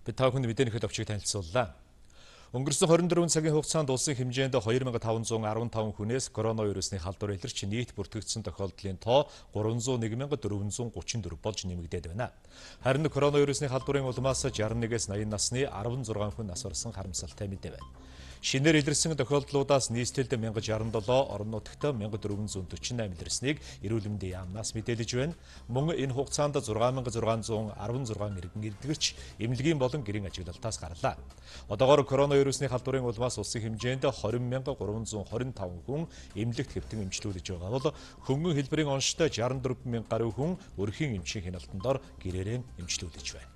Бид та бүхэнд мэдээний төлөвчийг танилцууллаа. Өнгөрсөн 24 цагийн хугацаанд улсын хэмжээнд 2515 хүнээс коронавирусны халдвар илэрч нийт бүртгэгдсэн тохиолдлын тоо 301,434 болж нэмэгдээд байна. Харин коронавирусны халдварын улмаас 61-ээс 80 насны 16 хүн нас барсан харамсалтай мэдээ байна. Шинээр илэрсэн тохиолдлуудаас нийслэлд 1067, орон нутагт 1448 илэрснийг эрүүл мэндийн яамнаас мэдээлж байна. Мөн энэ хугацаанд 6616 иргэн эдгэрч эмнэлгийн болон гэрийн ажиглалтаас гарлаа. Одоогоор коронавирусны халдварын улмаас улсын хэмжээнд 20,325 хүн эмнэлэгт хэвтэн эмчлүүлж байгаа бол хөнгөн хэлбэрийн онцтой 64,000 гаруй хүн өрхийн эмчийн хяналтандор гэрээрээ эмчлүүлж байна.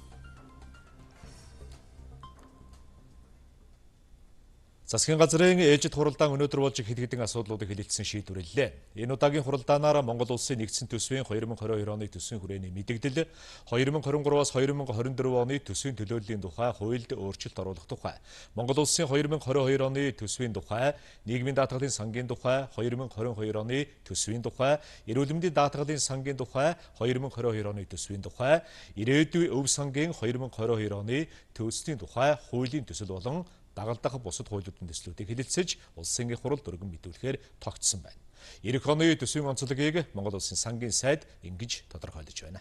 Засгийн газрын ээжид хуралдаан өнөөдөр болж хэд хэдэн асуудлуудыг хэлэлцсэн шийдвэрлэлээ. Энэ удаагийн хуралдаанаар Монгол улсын нэгдсэн төсвийн 2022 оны төсвийн хүрээний мэдэгдэл, 2023-аас 2024 оны төсвийн төлөөллийн тухай хуульд өөрчлөлт оруулах тухай, Монгол улсын 2022 оны төсвийн тухай, нийгмийн даатгалын сангийн тухай, 2022 оны төсвийн тухай, эрүүл мэндийн даатгалын сангийн тухай, 2022 оны төсвийн тухай, ирээдүйн өв сангийн 2022 оны төсвийн тухай, хуулийн төсөл болон дагалдах бусад хуулиудын төслүүдийг хэлэлцэж улсын хурал өргөн мэдүүлэхээр тогтсон байна. Ирэх оны төсвийн онцлогийг Монгол улсын сангийн сайд ингэж тодорхойлж байна.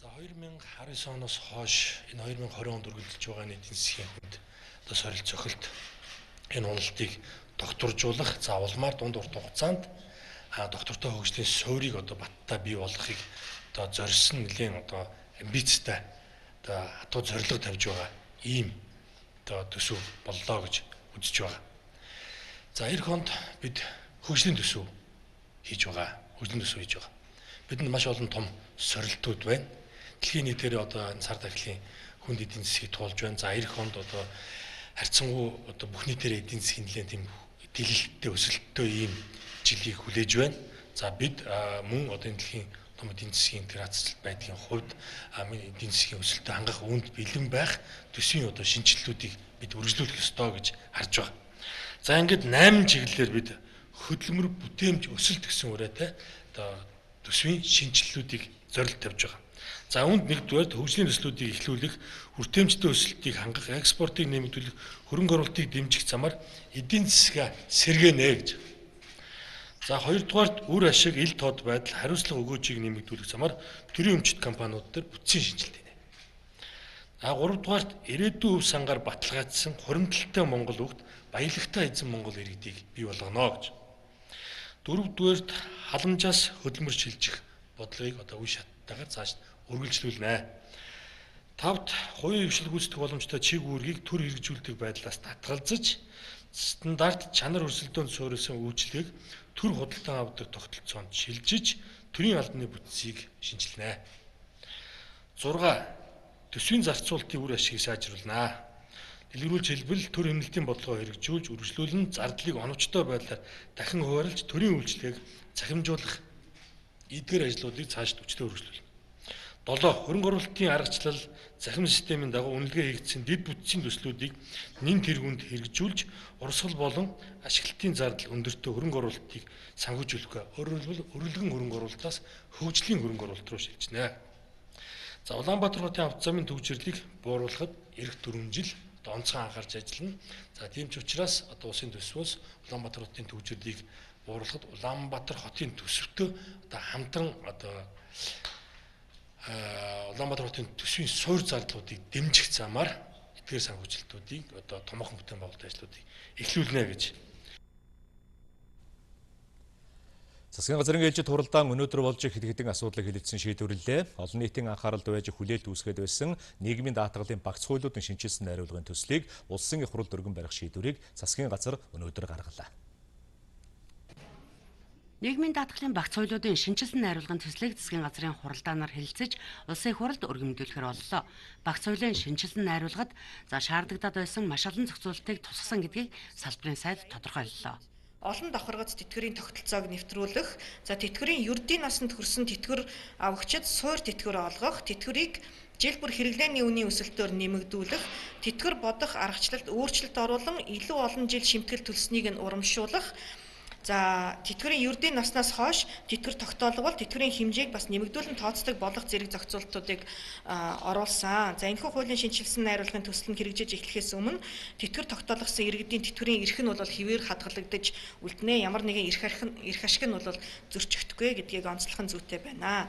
За 2019 оноос хойш энэ 2020 онд үргэлжилж байгаа нийтийн засгийн хүнд одоо сорил цохилт энэ уналтыг докторжуулах, за улмаар дунд урт хугацаанд доктортой хөгжлийн суурийг одоо баттай бий болгохыг одоо зорьсон нэлийн одоо амбицтай одоо хатуу зорилго тавьж байгаа ийм төсөв боллоо гэж үзэж байгаа. За эх хонд бид хөгжлийн төсөв хийж байгаа. Бидэнд маш олон том сорилтууд байна. Дэлхийн нийтээр одоо энэ сар дахлын хүнд эдийн засгийг туулж байна. За эх хонд одоо харьцангуй одоо бүх нийтээр эдийн засгийн нэлээд тийм дэлэлттэй өсөлттэй ийм жилийг хүлээж байна. За бид мөн одоо энэ дэлхийн том эдийн засгийн интеграцлалт байдлын хувьд эдийн засгийн өсөлтөд хангах үүнд бэлэн байх төсвийн одоо шинжилэлүүдийг бид үргэлжлүүлэх ёстой гэж харж байгаа. За ингээд 8 чиглэлээр бид хөдөлмөр бүтээмж өсөлт гэсэн үрээтэй одоо төсвийн шинжилэлүүдийг зорилт тавьж байгаа. За үүнд нэгдүгээр хөгжлийн төслүүдийг эхлүүлэх, хүртээмжтэй өсөлтийг хангах, экспортыг нэмэгдүүлэх, хөрөнгө оруулалтыг дэмжих замаар эдийн засгаа сэргээнэ гэж. За хоёрдугаарт үр ашиг ил тод байдал хариуцлага өгөөжийг нэмэгдүүлэх замаар төрийн өмчит компаниуд дээр бүтцийн шинжилт хийнэ. Гуравдугаарт ирээдүйн өв сангаар баталгаажсан хуримтлалтай Монгол хүүхд баялагтай эзэн Монгол иргэдийг бий болгоно гэж. Дөрөвдүгээрт халамжаас хөдөлмөр шилжих бодлогыг одоо үе шаттайгаар цааш үргэлжлүүлнэ. Тавд хувийн хвшил гүйцэтгэх боломжтой чиг үүргийг төр хэрэгжүүлдэг байдлаас татгалзаж стандарт чанар өрсөлдөөнд суурилсан үйлчлэгийг төр худалдан авдаг тогтолцоонд шилжиж төрийн албаны бүтцийг шинжилнэ. 6. Төсвийн зарцуулалтын үр ашгийг сайжруулнэ. Дэлгэрүүлж хэлбэл төр хэмнэлтийн бодлогоо хэрэгжүүлж үргэлжлүүлэн зардлыг оновчтой байдлаар дахин хуваарлж төрийн үйлчлэгийг захимжуулах эдгээр ажлуудыг цааш хүчтэй үргэлжлүүлнэ. 7. Хөрөнгө оруулалтын аргачлал захим системийн дагуу үнэлгээ хийгдсэн дэд бүтцийн төслүүдийг нэн тэргуунд хэрэгжүүлж урсгал болон ашиглалтын зардал өндөртэй хөрөнгө оруулалтыг санхүүжүүлэх. Өөрөөр хэлбэл өргөлгөн хөрөнгө оруулалтаас хөгжлийн хөрөнгө оруулалт руу шилжинэ. За Улаанбаатар хотын авто замын төвчрлийг бууруулахад эх 4 жил онцгой анхаарч ажиллана. За тийм ч учраас одоо улсын төсвөөс Улаанбаатар хотын төвчрлийг бууруулахад Улаанбаатар хотын төсөвтөө одоо хамтран одоо Улаанбаатар хотын төсвийн суур зардлуудыг дэмжих замаар эдгээр санхүүжилтүүдийг одоо томоохон бүтээн байгуулалт ажлуудыг эхлүүлнэ гэж. Засгийн газрын ээлжид хуралдаан өнөөдөр болж хэд хэдэн асуудлыг хэлэлцсэн шийдвэрлэлээ. Олон нийтийн анхааралд байж хүлээлт үүсгээд байсан нийгмийн даатгалын багц хуулиудын шинжилсэн найруулгын төслийг улсын их хурлд өргөн барих шийдвэрийг засгийн газар өнөөдөр гаргалаа. Нийгмийн даатгалын багц хуулиудын шинжилсэн найруулгын төслийг засгийн газрын хуралдаанаар хэлэлцэж улсын хуралд өргөмжлүүлэхээр боллоо. Багц хуулийн шинжилсэн найруулгад шаардлагатай байсан маш олон зохицуулалтыг тусгасан гэдгийг салбарын сайд тодорхойллоо. Олон давхаргац тэтгэврийн тогтолцоог нэвтрүүлэх, тэтгэврийн ердийн насанд хүрсэн тэтгэвэр авагчид суур тэтгэвэр олгох, тэтгэврийг жил бүр хэрэглээний үнийн өсөлтөөр нэмэгдүүлэх, тэтгэвэр бодох аргачлалд өөрчлөлт оруулан илүү олон жил шимтгэл төлснийг нь урамшуулах, За тэтгэврийн ердийн наснаас хойш тэтгэвэр тогтоолгол тэтгэврийн хэмжээг бас нэмэгдүүлэн тооцдог болох зэрэг зохицуултуудыг оруулсан. За энэхүү хуулийн шинжилсэн найруулгын төсөл нь хэрэгжиж эхлэхээс өмнө тэтгэвэр тогтоолгосон иргэдийн тэтгэврийн эрх нь бол хэвээр хадгалагдаж үлднэ. Ямар нэгэн эрх ашиг нь бол зөрчихдөггүй гэдгийг онцлох нь зүйтэй байна.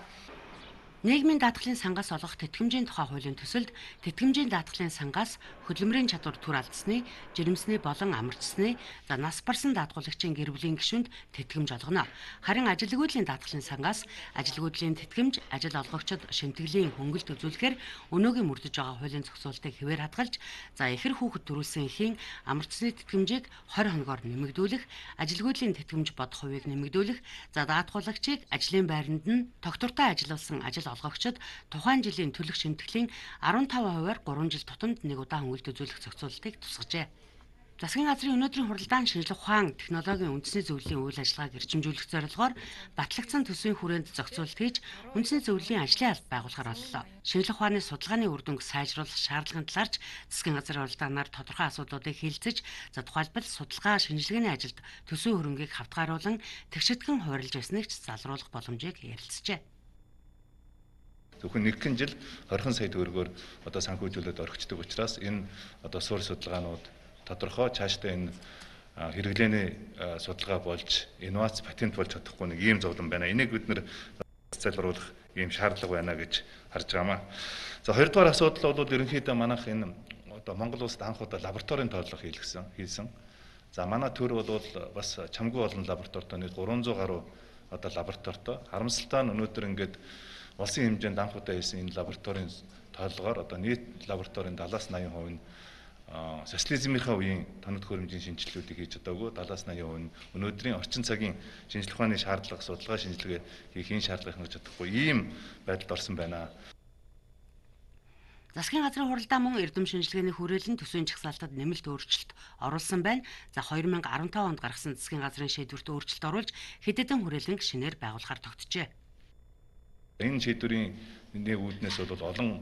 Нийгмийн даатгалын сангаас олгох тэтгэмжийн тухай хуулийн төсөлд тэтгэмжийн даатгалын сангаас хөдөлмөрийн чадвар түр алдсны, жирэмсний болон амарчсны, нас барсан даатгуулагчийн гэр бүлийн гишүүнд тэтгэмж олгоно. Харин ажилгүйдлийн даатгалын сангаас ажилгүйдлийн тэтгэмж ажил олгогчид шинтгэлийн хөнгөлт үзүүлэхээр өнөөгийн мөрдөж байгаа хуулийн зохицуултыг хэвээр хадгалж, ихэр хүүхэд төрүүлсэн эхийн амарчсны тэтгэмжийг 20 хоногоор нэмэгдүүлэх, ажилгүйдлийн тэтгэмж бодох хувийг нэмэгдүүлэх, даатгуулагчийг ажлын байранд нь тогтвортой ажилласан ажил олгогчид тухайн жилийн төлөх шинтгэлийн 15%-аар 3 жил тутамд нэг удаа хөнгөлт үзүүлэх зохицуултыг тусгажээ. Засгийн газрын өнөөдрийн хуралдаан шинжлэх ухаан технологийн үндэсний зөвлөлийн үйл ажиллагааг эрчимжүүлэх зорилгоор батлагдсан төсвийн хүрээнд зохицуулт хийж үндэсний зөвлөлийн ажлын алба байгуулахаар боллоо. Шинжлэх ухааны судалгааны үр дүнг сайжруулах шаардлагын талаарч засгийн газрын хуралдаанаар тодорхой асуудлуудыг хэлэлцэж, тухайлбал судалгаа шинжилгээний ажилд төсвийн хөрөнгийг хавтгааруулан тэгшидхэн хуваарлж байсныг ч залруулах боломжийг ярилцжээ. Зөвхөн нэгэн жил 20 сая төгрөгөөр санхүүжүүлээд орхичдаг учраас энэ суурь судалгаанууд тодорхой цаашдаа энэ хэрэглээний судалгаа болж инновац патент болж чадахгүй нэг ийм зовлон байна. Энийг бид нэр залруулах ийм шаардлага байна гэж харж байгаамаа. За хоёрдугаар асуудал бол ерөнхийдөө манайх энэ Монгол улсад анх удаа лабораторийн тооллого хийсэн. За манай төр бол бас чамгүй олон лабораторитой нэг 300 гаруй лабораторитой. Харамсалтай нь өнөөдөр ингээд улсын хэмжээнд анх удаа хийсэн энэ лабораторийн тоолгоор нийт лабораторийн 70-80% нь социализмынхаа үеийн тоног хөрөмжийн шинжилгэүүдийг хийж чадаагүй, 70-80% нь өнөөдрийн орчин цагийн шинжлэх ухааны шаардлага, судалгаа шинжилгээ хийх шаардлагыг хангаж чадахгүй ийм байдалд орсон байна. Засгийн газрын хуралдаан мөн эрдэм шинжилгээний хүрээлэн төсвийн жагсаалтад нэмэлт өөрчлөлт оруулсан байна. 2015 онд гаргасан засгийн газрын шийдвэрт өөрчлөлт оруулж хэдэн хүрээлэнг шинээр байгуулахаар тогтжээ. Энэ шийдвэрийн нэг үүднээс бол олон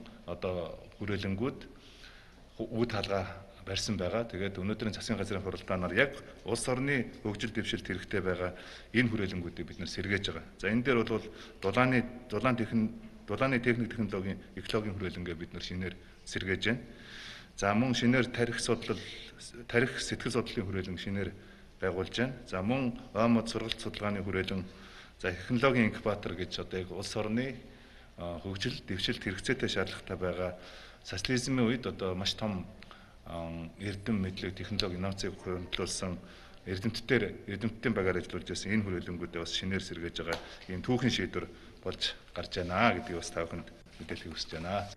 хүрээлэнгүүд үүд хаалга барьсан байгаа. Тэгээд өнөөдрийн засгийн газрын хуралдаанаар яг улс орны хөгжил дэвшилт хэрэгтэй байгаа энэ хүрээлэнгүүдийг бид нэр сэргээж байгаа. За энэ дээр бол дулааны техник технологийн экологийн хүрээлэнгээ бид нэр шинээр сэргээж байна. За мөн шинээр тарих сэтгэл судлалын хүрээлэн шинээр байгуулж байна. За мөн ОМОД сургалт судалгааны хүрээлэн технологийн инкубатор гэж улс орны хөгжил дэвшилт хэрэгцээтэй шаардлагатай байгаа социализмын үед маш том эрдэм мэдлэг технологи инновацийг хөрвүүлсэн эрдэмтдийн багаар ажиллаж байсан энэ хүрээлэнгүүдээ бас шинээр сэргээж байгаа ийм түүхэн шийдвэр болж гарч байна гэдгийг бас та бүхэнд мэдээлхийг хүсэж байна.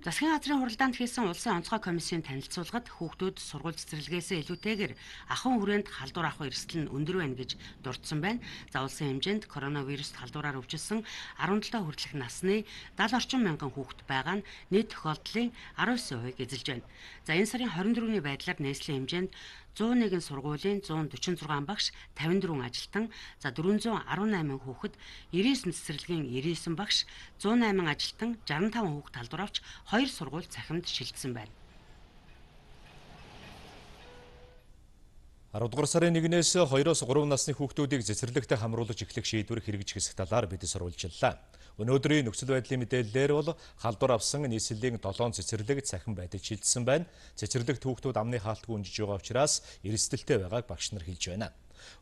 Засгийн газрын хуралдаанд хийсэн улсын онцгой комиссийн танилцуулгад хүүхдүүд сургууль цэцэрлэгээсээ илүүтэйгээр ахуйн хүрээнд халдвар авах эрсдэл нь өндөр байна гэж дурдсан байна. За улсын хэмжээнд коронавируст халдвараар өвчлсөн 17 хүртэлх насны 70 орчим мянган хүүхэд байгаа нь нийт тохиолдлын 19%-ийг эзэлж байна. За энэ сарын 24-ний байдлаар нийслэлийн хэмжээнд 101 сургуулийн 146 багш, 54 ажилтан, 418 хүүхэд, 99 цэцэрлэгийн 99 багш, 108 ажилтан, 65 хүүхэд халдвар авч 2 сургууль цахимд шилжсэн байна. 10 дугаар сарын 1-ээс 2-оос 3 насны хүүхдүүдийг цэцэрлэгтэй хамруулж эхлэх шийдвэр хэрэгжих хэсэг талаар бид сурвалжиллаа. Өнөөдрийн нөхцөл байдлын мэдээллээр бол халдвар авсан нийслэлийн 7 цэцэрлэг цахим байдаж шилжсэн байна. Цэцэрлэгт хүүхдүүд амны хаалтгүй унжиж байгаа учраас эрсдэлтэй байгааг багш нар хэлж байна.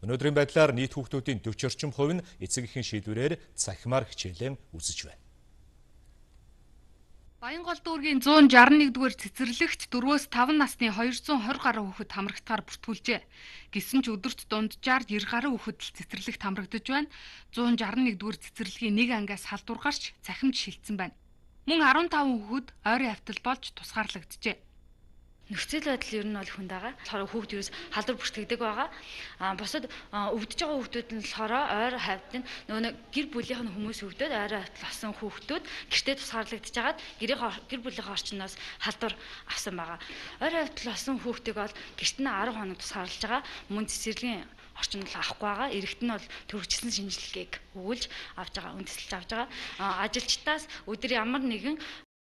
Өнөөдрийн байдлаар нийт хүүхдүүдийн 40 орчим хувь нь эцэг эхийн шийдвэрээр цахимаар хичээлээ үзэж байна. Баянгол дүүргийн 161-р цэцэрлэгт 4-5 насны 220 гаруй хүүхэд хамрагдахаар бүртгүүлжээ. Гэсэн ч өдөрт дунджаар 90 гаруй хүүхэд л цэцэрлэгт хамрагдаж байна. 161-р цэцэрлэгийн нэг ангиас халдвар гарч цахимд шилжсэн байна. Мөн 15 хүүхэд ойрын хавтал болж тусгаарлагджээ. Нөхцөл байдал ер нь бол хүнд байгаа. Тэгэхээр хүүхд ерөөс халдвар бүртгэдэг байгаа. Бусад өвдөж байгаа хүүхдүүд нь болохоор ойр хавьд нөгөө гэр бүлийнх нь хүмүүс өвдөд ойр хавьд болсон хүүхдүүд гэртээ тусгаарлагдж хагаад гэр бүлийнхээ орчноос халдвар авсан байгаа. Ойр хавьд болсон хүүхдийг бол гэрт нь 10 хоног тусгаарлаж байгаа. Мөн цэцэрлэгийн орчинд авахгүй байгаа. Иргэд нь бол төрөгчсөн шинжилгээг өгүүлж авч байгаа, үндэслэж авч байгаа. Ажилчдаас өдөр ямар нэгэн